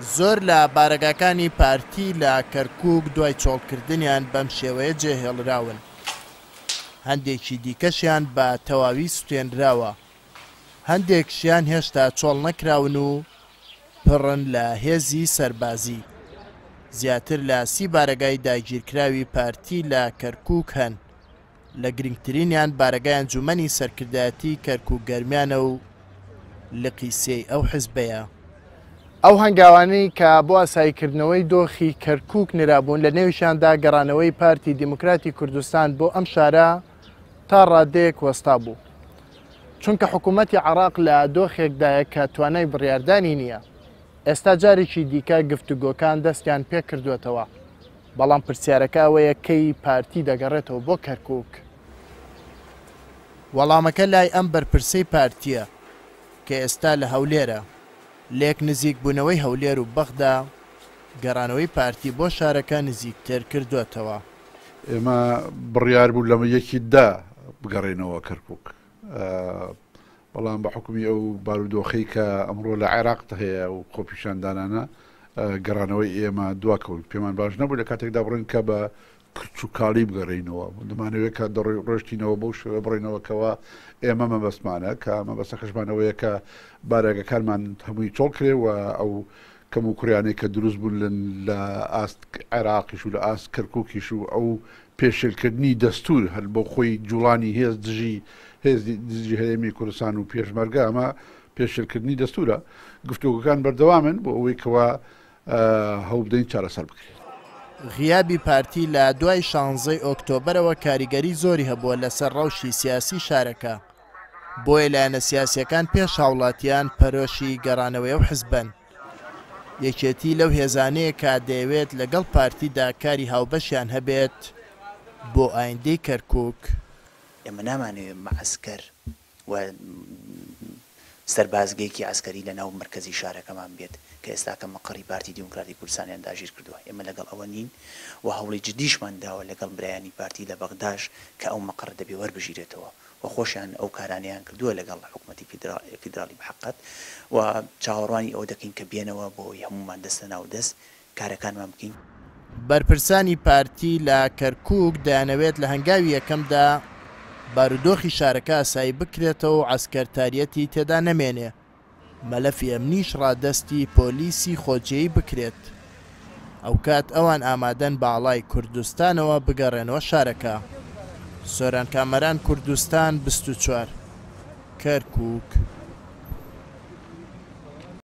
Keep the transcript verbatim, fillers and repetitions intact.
زۆر لە بارەگاکانی پارتی لە کەرکوک دوای چۆڵکردنیان بەم شێوەیە جێهێڵراون، هەندێکی دیکەشیان بە تەواوی سوتێنراوە، هەندێکشیان هێشتا چۆڵ نەکراون و پڕن لە هێزی سەربازی. زیاتر لە سی بارەگای داگیرکراوی پارتی لە کەرکوک هەن، لە گرنگترینیان بارەگای ئەنجومەنی سەرکردایەتی کەرکوک گەرمیانە و لقی سێی ئەو حزبەیە. ئەو هەنگاوانەی کە بۆ ئاساییکردنەوەی دۆخی کەرکوک نرابوون لە نێویشیاندا گەڕانەوەی پارتی دیموکراتی کوردستان بۆ ئەم شارە تا ڕادەیەک وەستا بوو، چونکە حکوومەتی عێراق لە دۆخێکدایە کە توانای بڕیاردانی نییە. ئێستا جارێکی دیکە گفتوگۆکان دەستیان پێکردوێتەوە، بەڵام پرسیارەکە ئەوەیە کەی پارتی دەگەڕێتەوە بۆ کەرکوک. وەڵامەکە لای ئەم بەرپرسەی پارتیە کە ئێستا لە هەولێرە. لێک نزیک بوونەوەی هەولێر و بەغدا گەڕانەوەی پارتی بۆ شارەکە نزیکتر کردوێتەوە. ئێمە بڕیار بوو لەمە یەکی دا بگەڕێنەوە کەرکوک، بەڵام بە حکومی ئەو بارودۆخەی کە ئەمڕۆ لە عێراق هەیە و خۆپیشاندانانە گەڕانەوەی ئێمە دواکەوت. پێمان باش نەبوو لە کاتێکدا بڕین کە بە کچوکاڵی بگەڕێینەوە، دەمانەوێت کە ڕۆشتینەوە بەو شێوە بڕینەوەکەوە ئێمە مەبەستمانە کە مەبەستەکەشمانەوەیە کە بارەگەکانمان هەمووی چۆڵ کرێ و ئەو کەم و کوڕیانەی کە دروست بوون لە ئاست عێراقیش و لە ئاست کەرکوکیش و ئەو پێشێلکردنی دەستور هەر بۆ خۆی جوڵانی هێز دژی هێزی دژی هەرێمی کوردستان و پێشمەرگە، ئەمە پێشێلکردنی دەستورە. گفتوگۆکان بەردەوامن بۆ ئەوەی کەوا هەوڵ بدەین چارەسەر بکرێت. غیابی پارتی لە دوای شانزەی ئۆکتۆبەرەوە کاریگەری زۆری هەبووە لەسەر ڕەوشی سیاسی شارەکە، بۆیە لایەنە سیاسیەکان پێش هاوڵاتیان پەرۆشی گەڕانەوەی ئەو حزبن. یەکێتی لەو هێزانەیە کە دەیەوێت لەگەڵ پارتیدا کاری هاوبەشیان هەبێت بۆ ئایندەی کەرکوک. ئێمە نامانەوێت مەعسکەر و سەربازگەیەکی عەسکەری لە ناو مەرکەزی شارەکەمان بێت کە ئێستاکە مەقەڕی پارتی دیموکراتی کوردستانیان داگیر کردووە. ئێمە لەگەڵ ئەوە نین و هەوڵی جدیشمان داوە لەگەڵ برایانی پارتی لە بەغداش کە ئەو مەقەڕە دەبێ وەربژیرێتەوە و خۆشیان ئەو کارانەیان کردووە لەگەڵ حکوومەتی فیدراڵی بەحەقەت و چاوەڕوانی ئەوە دەکەین کە بێنەوە بۆ ئەوەی هەمومان دەستە ناو دەست کارەکانمان بکەین. بەرپرسانی پارتی لە کەرکوک دەیانەوێت لە هەنگاوی یەکەمدا بارودۆخی شارەکە ئاسایی بکرێتەوە و عەسکەرتاریەتی تێدا نەمێنێ، مەلەفی ئەمنیش ڕادەستی پۆلیسی خۆجێی بکرێت. ئەو کات ئەوان ئامادەن باڵای کوردستانەوە بگەڕێنەوە شارەکە. سۆران کامەران، کوردستان بیست و چوار، کەرکوک.